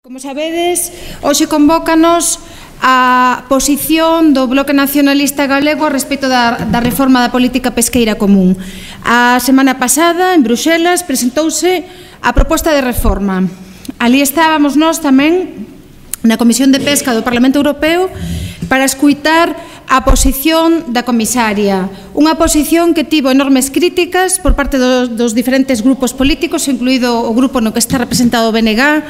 Como sabedes, hoxe convócanos a posición do Bloque Nacionalista Galego a respecto da reforma da política pesqueira común. A semana pasada, en Bruxelas, presentouse a proposta de reforma. Ali estábamos nós tamén na Comisión de Pesca do Parlamento Europeo para escuitar a posición da comisaria. Unha posición que tivo enormes críticas por parte dos diferentes grupos políticos, incluído o grupo no que está representado o BNG,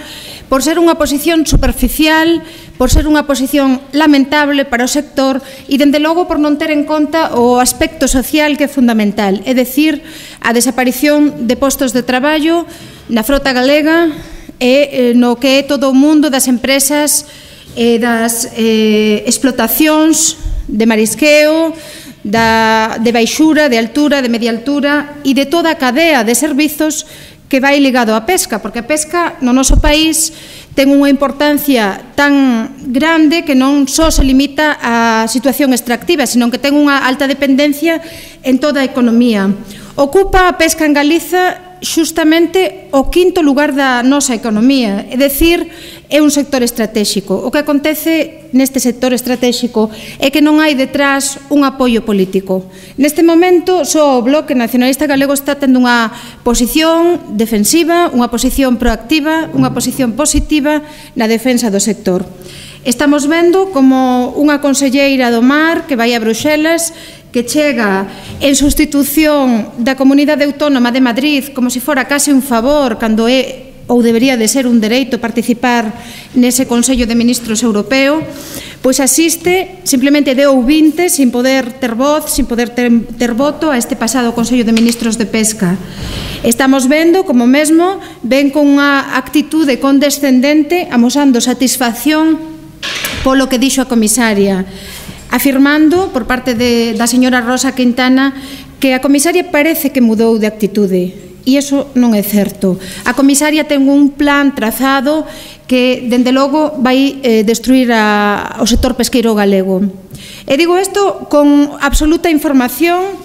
por ser unha posición superficial, por ser unha posición lamentable para o sector e, dende logo, por non ter en conta o aspecto social que é fundamental, é dicir, a desaparición de postos de traballo na frota galega e no que é todo o mundo das empresas e das explotacións de marisqueo, de baixura, de altura, de media altura e de toda a cadea de servizos que vai ligado á pesca, porque a pesca no noso país ten unha importancia tan grande que non só se limita á situación extractiva, senón que ten unha alta dependencia en toda a economía. Ocupa a pesca en Galiza xustamente o quinto lugar da nosa economía, é dicir, é un sector estratégico. O que acontece neste sector estratégico é que non hai detrás un apoio político. Neste momento, só o Bloque Nacionalista Galego está tendo unha posición defensiva, unha posición proactiva, unha posición positiva na defensa do sector. Estamos vendo como unha conselleira do mar que vai a Bruxelas, que chega en sustitución da Comunidade Autónoma de Madrid como se fora case un favor cando é ou debería de ser un dereito participar nese Consello de Ministros Europeo, pois asiste, simplemente de ouvinte, sin poder ter voz, sin poder ter voto a este pasado Consello de Ministros de Pesca. Estamos vendo como mesmo ven con unha actitude condescendente amosando satisfacción polo que dixo a comisaria, afirmando por parte da señora Rosa Quintana que a comisaria parece que mudou de actitude. E iso non é certo. A comisaria ten un plan trazado que, dende logo, vai destruir o sector pesqueiro galego. E digo isto con absoluta información,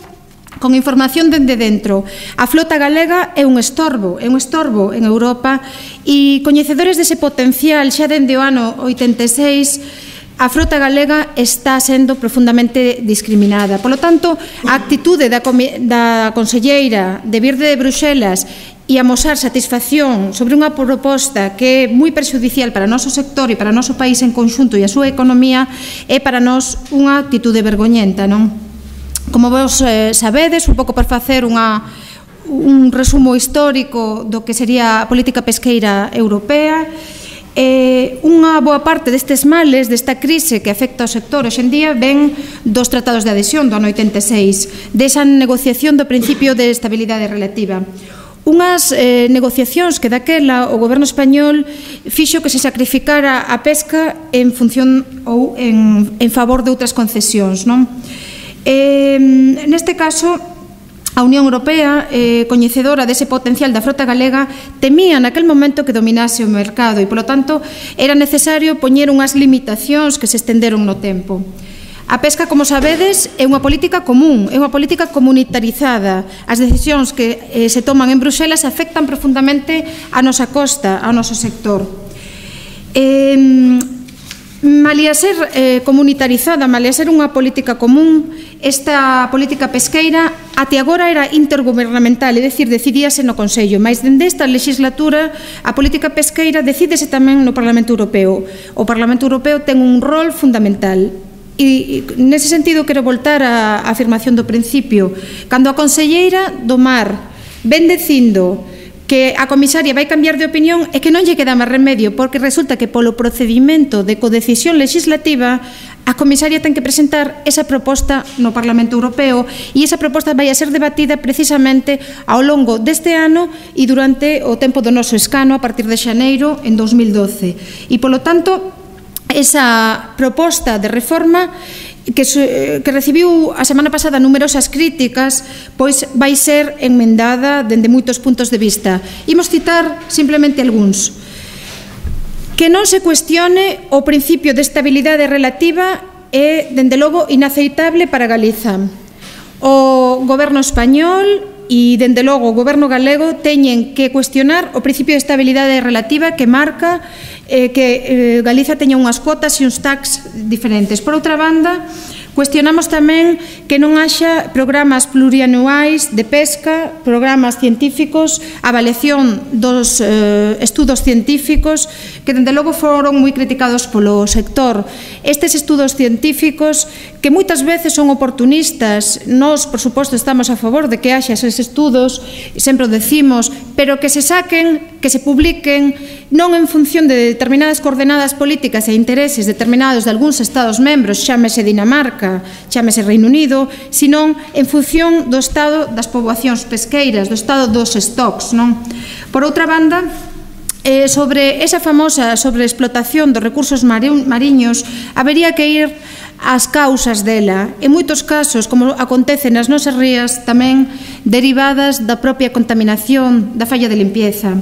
con información dende dentro. A flota galega é un estorbo en Europa e coñecedores dese potencial xa dende o ano 86, a frota galega está sendo profundamente discriminada. Por lo tanto, a actitude da conselleira de vir de Bruxelas e amosar satisfacción sobre unha proposta que é moi perxudicial para o noso sector e para o noso país en conxunto e a súa economía é para nós unha actitude vergoñenta, non? Como vos sabedes, un pouco por facer un resumo histórico do que sería a política pesqueira europea, unha boa parte destes males, desta crise que afecta ao sector hoxe en día, ven dos tratados de adhesión do ano 86, desa negociación do principio de estabilidade relativa. Unhas negociacións que daquela o goberno español fixo que se sacrificara a pesca en función ou en favor de outras concesións, non? Neste caso, a Unión Europea, coñecedora dese potencial da frota galega, temía naquel momento que dominase o mercado e, polo tanto, era necesario poñer unhas limitacións que se estenderon no tempo. A pesca, como sabedes, é unha política común, é unha política comunitarizada. As decisións que se toman en Bruxelas afectan profundamente a nosa costa, ao noso sector. Malia ser comunitarizada, malia ser unha política común, esta política pesqueira até agora era intergubernamental, é dicir, decidíase no Consello, mas dende esta legislatura a política pesqueira decídese tamén no Parlamento Europeo. O Parlamento Europeo ten un rol fundamental. E nese sentido quero voltar á afirmación do principio. Cando a conselleira do mar ven dicindo que a comisaria vai cambiar de opinión é que non lle queda máis remedio, porque resulta que polo procedimento de codecisión legislativa a comisaria ten que presentar esa proposta no Parlamento Europeo e esa proposta vai a ser debatida precisamente ao longo deste ano e durante o tempo do noso escano a partir de xaneiro en 2012. E polo tanto, esa proposta de reforma que recibiu a semana pasada numerosas críticas, pois vai ser enmendada dende moitos puntos de vista. Imos citar simplemente algúns. Que non se cuestione o principio de estabilidade relativa é, dende logo, inaceitable para Galiza. O goberno español e, dende logo, o Goberno galego teñen que cuestionar o principio de estabilidade relativa que marca que Galiza teña unhas cuotas e uns tax diferentes. Por outra banda, cuestionamos tamén que non haxa programas plurianuais de pesca, programas científicos, avaliación dos estudos científicos que, dende logo, foron moi criticados polo sector. Estes estudos científicos que moitas veces son oportunistas, nós, por suposto, estamos a favor de que haxa eses estudos, sempre o decimos, pero que se saquen, que se publiquen, non en función de determinadas coordenadas políticas e intereses determinados de algúns Estados membros, chámese Dinamarca, chámese Reino Unido, senón en función do estado das poboacións pesqueiras, do estado dos stocks, non? Por outra banda, sobre esa famosa sobreexplotación dos recursos mariños, habería que ir ás causas dela, en moitos casos, como acontece nas nosas rías, tamén derivadas da propia contaminación, da falla de limpieza.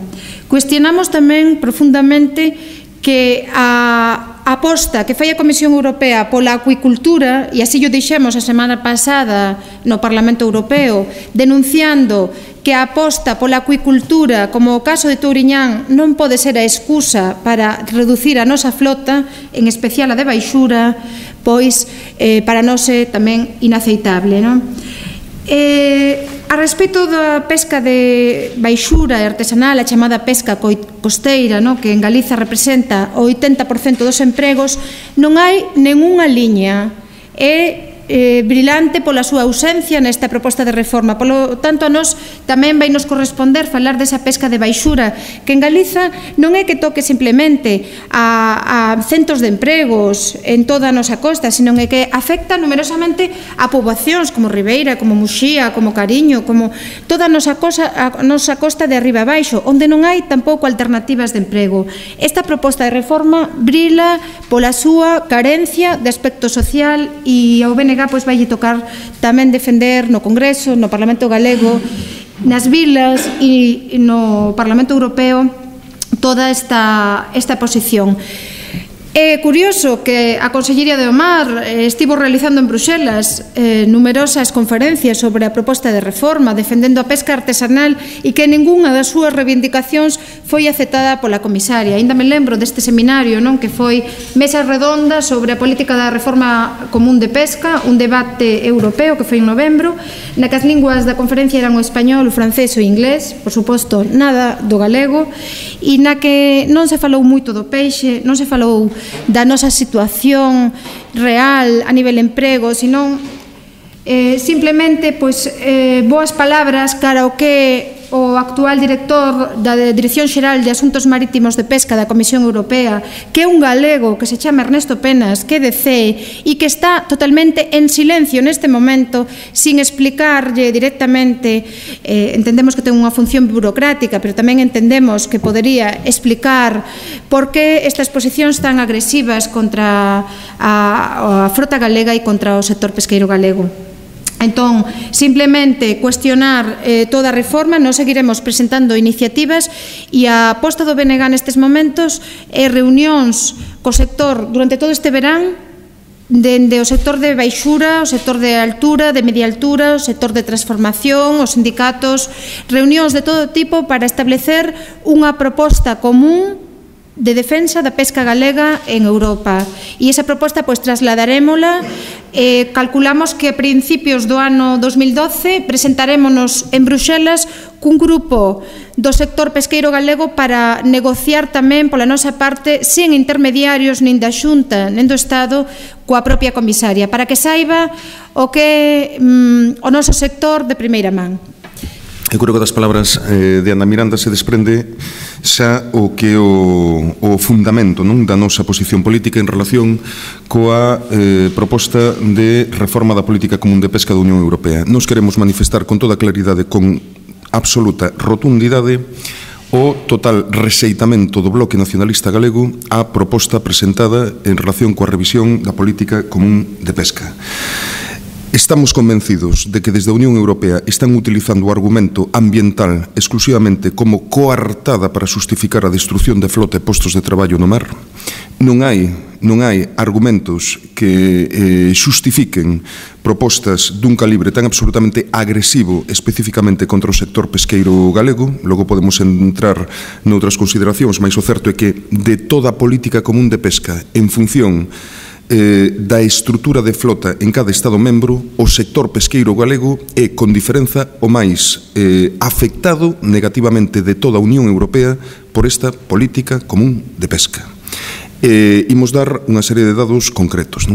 Cuestionamos tamén profundamente que a aposta que fai a Comisión Europea pola acuicultura, e así o dixemos a semana pasada no Parlamento Europeo, denunciando que a aposta pola acuicultura, como o caso de Touriñán, non pode ser a excusa para reducir a nosa flota, en especial a de baixura, pois para nós é tamén inaceitable, non? A respecto da pesca de baixura e artesanal, a chamada pesca costeira, que en Galiza representa o 80% dos empregos, non hai nengunha liña. É brilante pola súa ausencia nesta proposta de reforma. Polo tanto, a nós tamén vai nos corresponder falar desa pesca de baixura, que en Galiza non é que toque simplemente a centos de empregos en toda a nosa costa, sino é que afecta numerosamente a poboacións como Ribeira, como Muxía, como Cariño, como toda a nosa costa de arriba abaixo, onde non hai tampouco alternativas de emprego. Esta proposta de reforma brila pola súa carencia de aspecto social e ao BNG pois vai tocar tamén defender no Congreso, no Parlamento Galego, nas vilas e no Parlamento Europeo toda esta posición. É curioso que a Consellería de Mar estivo realizando en Bruxelas numerosas conferencias sobre a proposta de reforma, defendendo a pesca artesanal, e que ningunha das súas reivindicacións foi aceptada pola comisaria. Ainda me lembro deste seminario, que foi mesa redonda sobre a política da reforma común de pesca, un debate europeo que foi en novembro, na que as linguas da conferencia eran o español, o francés e o inglés, por suposto nada do galego, e na que non se falou moito do peixe, non se falou da nosa situación real a nivel emprego, senón simplemente boas palabras cara ao que o actual director da Dirección Xeral de Asuntos Marítimos de Pesca da Comisión Europea, que é un galego que se chama Ernesto Penas, que é de CEE e que está totalmente en silencio neste momento, sin explicarlle directamente. Entendemos que ten unha función burocrática, pero tamén entendemos que podería explicar por que estas posicións tan agresivas contra a frota galega e contra o sector pesqueiro galego. Entón, simplemente cuestionar toda a reforma. Nós seguiremos presentando iniciativas e a aposta do BNG nestes momentos é reunións co sector durante todo este verán, dende o sector de baixura, o sector de altura, de media altura, o sector de transformación, os sindicatos, reunións de todo tipo para establecer unha proposta común de defensa da pesca galega en Europa. E esa proposta trasladarémola. Calculamos que a principios do ano 2012 presentarémonos en Bruxelas cun grupo do sector pesqueiro galego para negociar tamén pola nosa parte, sen intermediarios nin da Xunta nin do Estado, coa propia comisaria, para que saiba o que o noso sector de primeira man. Eu creo que das palabras de Ana Miranda se desprende xa o que o fundamento da nosa posición política en relación coa proposta de reforma da política común de pesca da Unión Europea. Nos queremos manifestar con toda claridade, con absoluta rotundidade, o total rexeitamento do Bloque Nacionalista Galego á proposta presentada en relación coa revisión da política común de pesca. Estamos convencidos de que desde a Unión Europea están utilizando o argumento ambiental exclusivamente como coartada para xustificar a destrucción de flota e postos de traballo no mar, non hai argumentos que xustifiquen propostas dun calibre tan absolutamente agresivo especificamente contra o sector pesqueiro galego. Logo podemos entrar noutras consideracións, mas o certo é que de toda a política común de pesca en función da estrutura de flota en cada Estado membro, o sector pesqueiro galego é, con diferenza, o máis afectado negativamente de toda a Unión Europea por esta política común de pesca. Imos dar unha serie de dados concretos.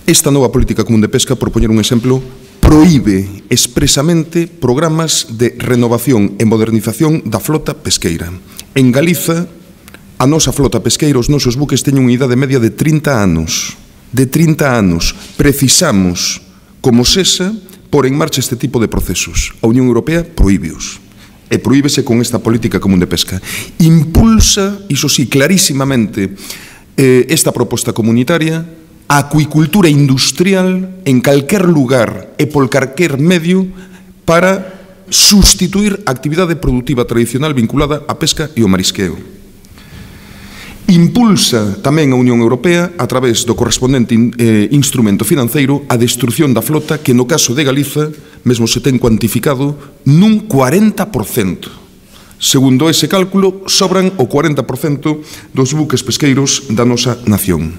Esta nova política común de pesca, por poñer un exemplo, proíbe expresamente programas de renovación e modernización da flota pesqueira. En Galiza, a nosa flota pesqueira, os nosos buques teñen unha idade media de 30 anos. De 30 anos. Precisamos, como SESA, por en marcha este tipo de procesos. A Unión Europea prohíbeos. E prohíbese con esta política común de pesca. Impulsa, iso sí, clarísimamente, esta proposta comunitaria, a acuicultura industrial en calquer lugar e por calquer medio para sustituir a actividade productiva tradicional vinculada á pesca e ao marisqueo. Impulsa tamén a Unión Europea, a través do correspondente instrumento financeiro, a destrucción da flota que, no caso de Galiza, mesmo se ten cuantificado nun 40%. Segundo ese cálculo, sobran o 40% dos buques pesqueiros da nosa nación.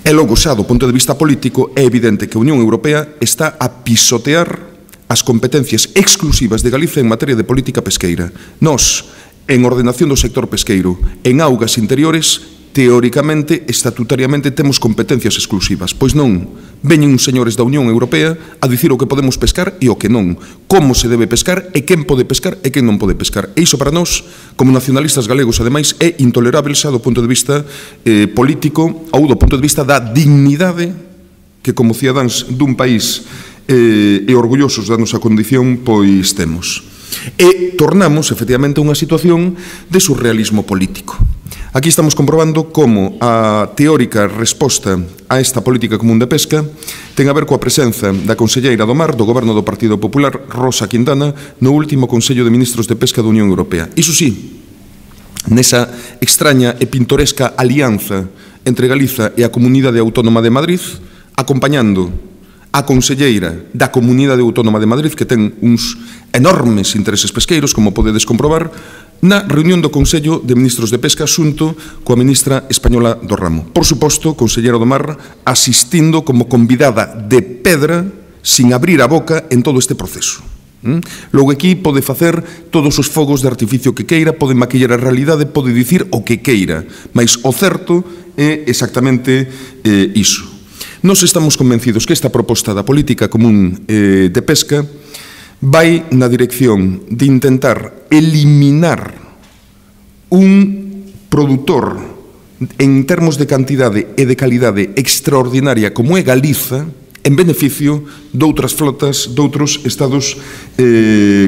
E logo, xa do punto de vista político, é evidente que a Unión Europea está a pisotear as competencias exclusivas de Galiza en materia de política pesqueira. Nós, en ordenación do sector pesqueiro, en augas interiores, teóricamente, estatutariamente, temos competencias exclusivas. Pois non, veñen uns señores da Unión Europea a dicir o que podemos pescar e o que non, como se debe pescar e quen pode pescar e quen non pode pescar. E iso para nós, como nacionalistas galegos, ademais, é intolerável xa do punto de vista político ou do punto de vista da dignidade que, como cidadáns dun país e orgullosos da nosa condición, pois temos. E tornamos, efectivamente, a unha situación de surrealismo político. Aquí estamos comprobando como a teórica resposta a esta política común de pesca ten a ver coa presenza da conselleira do Mar do Goberno do Partido Popular, Rosa Quintana, no último Consello de Ministros de Pesca da Unión Europea. Iso sí, nesa extraña e pintoresca alianza entre Galiza e a Comunidade Autónoma de Madrid, acompañando a conselleira da Comunidade Autónoma de Madrid, que ten uns enormes intereses pesqueiros, como podedes comprobar, na reunión do Consello de Ministros de Pesca xunto coa ministra española do ramo. Por suposto, conselleira do Mar asistindo como convidada de pedra, sin abrir a boca en todo este proceso. Logo aquí pode facer todos os fogos de artificio que queira, pode maquillar a realidade, pode dicir o que queira, mas o certo é exactamente iso. Nós estamos convencidos que esta proposta da política común de pesca vai na dirección de intentar eliminar un produtor en termos de cantidade e de calidade extraordinaria como é Galiza, en beneficio de outras flotas de outros estados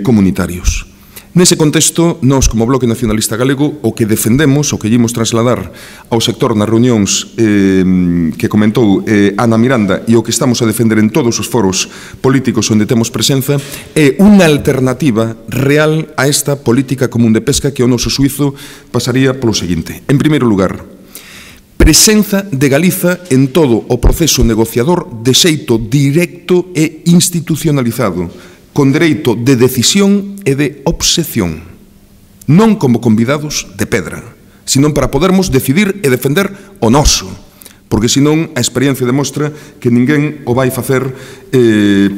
comunitarios. Nese contexto, nós, como Bloque Nacionalista Galego, o que defendemos, o que ímos trasladar ao sector nas reunións que comentou Ana Miranda e o que estamos a defender en todos os foros políticos onde temos presenza, é unha alternativa real a esta política común de pesca que ao noso suizo pasaría polo seguinte. En primeiro lugar, presenza de Galiza en todo o proceso negociador de xeito directo e institucionalizado, con dereito de decisión e de obxección, non como convidados de pedra, senón para podermos decidir e defender o noso, porque senón a experiencia demostra que ninguén o vai facer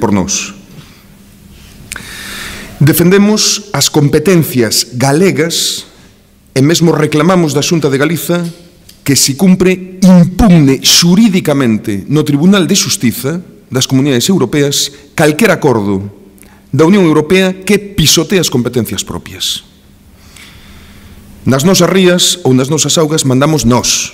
por nós. Defendemos as competencias galegas e mesmo reclamamos da Xunta de Galiza que se cumpre impugne xurídicamente no Tribunal de Xustiza das Comunidades Europeas calquer acordo da Unión Europea que pisotea as competencias propias. Nas nosas rías ou nas nosas augas mandamos nós,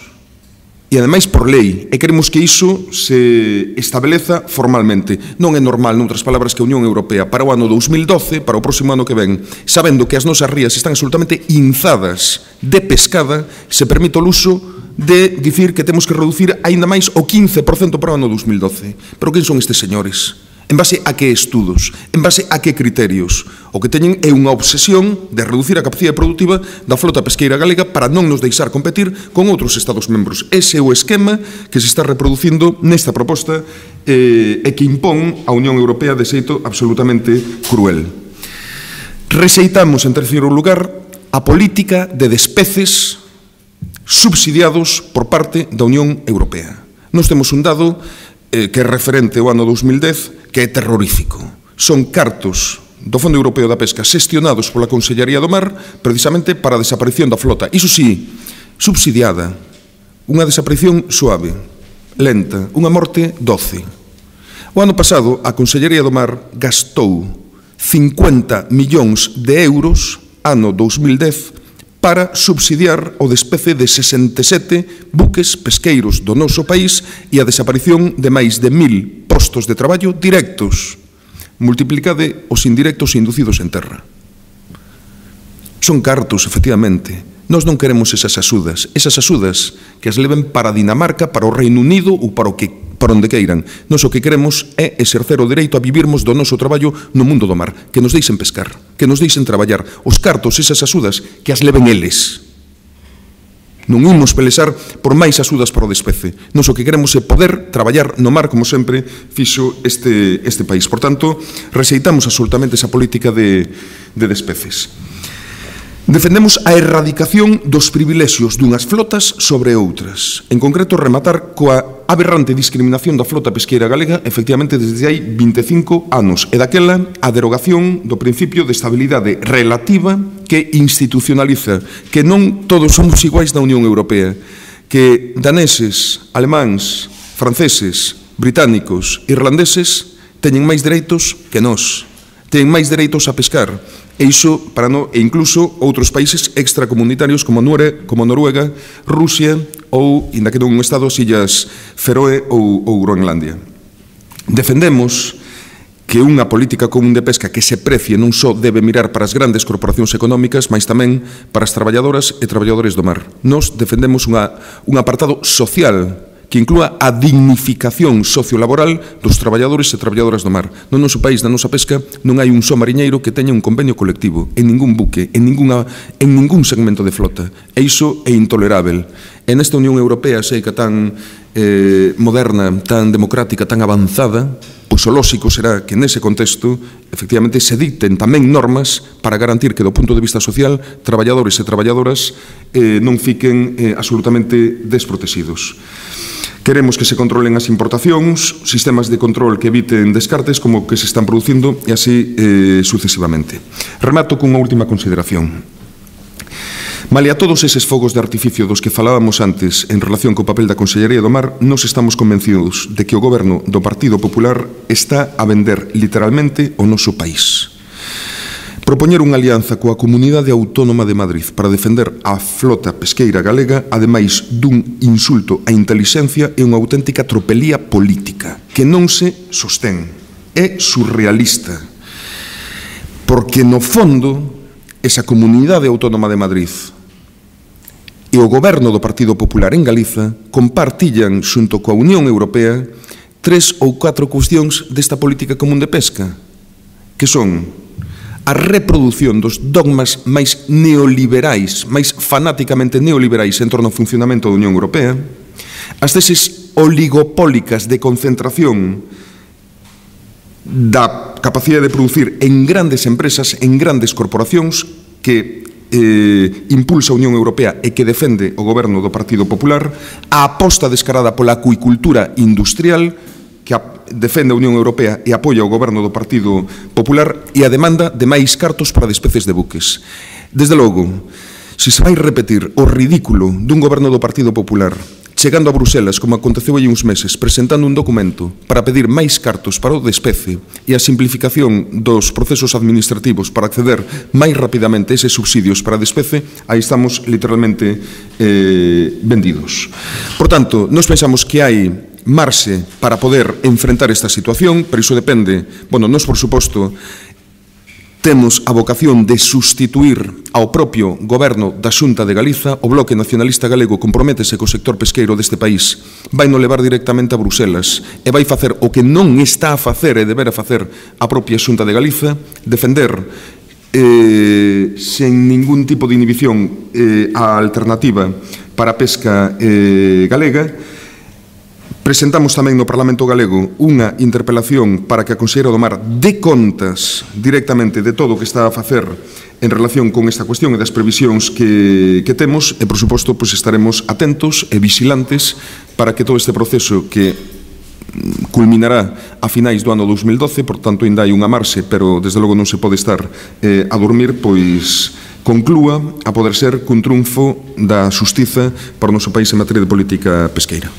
e ademais por lei, e queremos que iso se estabeleza formalmente. Non é normal, noutras palabras, que a Unión Europea para o ano 2012, para o próximo ano que ven, sabendo que as nosas rías están absolutamente inzadas de pescada, se permite o luso de dicir que temos que reducir aínda máis o 15% para o ano 2012. Pero quen son estes señores? En base a que estudos? En base a que criterios? O que teñen é unha obsesión de reducir a capacidade productiva da flota pesqueira galega para non nos deixar competir con outros Estados membros. Ese é o esquema que se está reproducindo nesta proposta e que impón a Unión Europea de xeito absolutamente cruel. Rexeitamos, en terceiro lugar, a política de despeces subsidiados por parte da Unión Europea. Nos temos un dado que é referente ao ano 2010, que é terrorífico. Son cartos do Fondo Europeo da Pesca xestionados pola Consellería do Mar precisamente para a desaparición da flota. Iso sí, subsidiada. Unha desaparición suave, lenta, unha morte doce. O ano pasado, a Consellería do Mar gastou 50 millóns de euros, ano 2010, para subsidiar o despece de 67 buques pesqueiros do noso país e a desaparición de máis de 1000 postos de traballo directos. Multiplicade os indirectos inducidos en terra. Son cartos, efectivamente. Nós non queremos esas axudas que as leven para Dinamarca, para o Reino Unido ou para onde queiran. Nós o que queremos é exercer o dereito a vivirmos do noso traballo no mundo do mar, que nos deixen pescar, que nos deixen traballar. Os cartos, esas axudas, que as leven eles. Non imos pelexar por máis axudas para o despece. Nós o que queremos é poder traballar no mar, como sempre fixo este país. Por tanto, rexeitamos absolutamente esa política de despeces. Defendemos a erradicación dos privilexios dunhas flotas sobre outras. En concreto, rematar coa aberrante discriminación da flota pesqueira galega efectivamente desde hai 25 anos e daquela a derogación do principio de estabilidade relativa que institucionaliza que non todos somos iguais na Unión Europea, que daneses, alemáns, franceses, británicos, irlandeses teñen máis dereitos que nós, teñen máis dereitos a pescar. E iso, e incluso outros países extracomunitarios como Noruega, Rusia ou, inda que non un estado, as Illas Feroe ou Groenlandia. Defendemos que unha política común de pesca que se precie non só debe mirar para as grandes corporacións económicas, mas tamén para as traballadoras e traballadores do mar. Nos defendemos un apartado social que inclúa a dignificación sociolaboral dos traballadores e traballadoras do mar. No noso país, na nosa pesca, non hai un só mariñeiro que teña un convenio colectivo, en ningún buque, en ningún segmento de flota. E iso é intolerável. E nesta Unión Europea, sei que tan moderna, tan democrática, tan avanzada, pois o lóxico será que nese contexto, efectivamente, se dicten tamén normas para garantir que, do punto de vista social, traballadores e traballadoras non fiquen absolutamente desprotegidos. Queremos que se controlen as importacións, sistemas de control que eviten descartes como que se están producindo e así sucesivamente. Remato cunha última consideración. Malia todos eses fogos de artificio dos que falábamos antes en relación co papel da Consellería do Mar, nos estamos convencidos de que o Goberno do Partido Popular está a vender literalmente o noso país. Propoñer unha alianza coa Comunidade Autónoma de Madrid para defender a flota pesqueira galega, ademais dun insulto á intelixencia, é unha auténtica tropelía política que non se sostén. É surrealista. Porque, no fondo, esa Comunidade Autónoma de Madrid e o Goberno do Partido Popular en Galiza compartillan, xunto coa Unión Europea, 3 ou 4 cuestións desta política común de pesca, que son a reprodución dos dogmas máis neoliberais, máis fanáticamente neoliberais en torno ao funcionamento da Unión Europea, as teses oligopólicas de concentración da capacidade de producir en grandes empresas, en grandes corporacións que impulsa a Unión Europea e que defende o goberno do Partido Popular, a aposta descarada pola acuicultura industrial que defende a Unión Europea e apoia o goberno do Partido Popular e a demanda de máis cartos para despeces de buques. Desde logo, se se vai repetir o ridículo dun goberno do Partido Popular chegando a Bruselas, como aconteceu hai uns meses, presentando un documento para pedir máis cartos para o despece e a simplificación dos procesos administrativos para acceder máis rapidamente a eses subsidios para despece, aí estamos literalmente vendidos. Por tanto, nós pensamos que hai marxe para poder enfrentar esta situación, pero iso depende, bueno, nós, por suposto, temos a vocación de sustituir ao propio goberno da Xunta de Galiza. O Bloque Nacionalista Galego comprométese co sector pesqueiro deste país, vai no levar directamente a Bruselas e vai facer o que non está a facer e debera facer a propia Xunta de Galiza, defender sen ningún tipo de inhibición a alternativa para a pesca galega. Presentamos tamén no Parlamento Galego unha interpelación para que a Conselleira do Mar dé contas directamente de todo o que está a facer en relación con esta cuestión e das previsións que temos e, por suposto, estaremos atentos e vigilantes para que todo este proceso que culminará a finais do ano 2012, por tanto, ainda hai unha marxe, pero desde logo non se pode estar a dormir, pois conclúa a poder ser cun triunfo da xustiza para o noso país en materia de política pesqueira.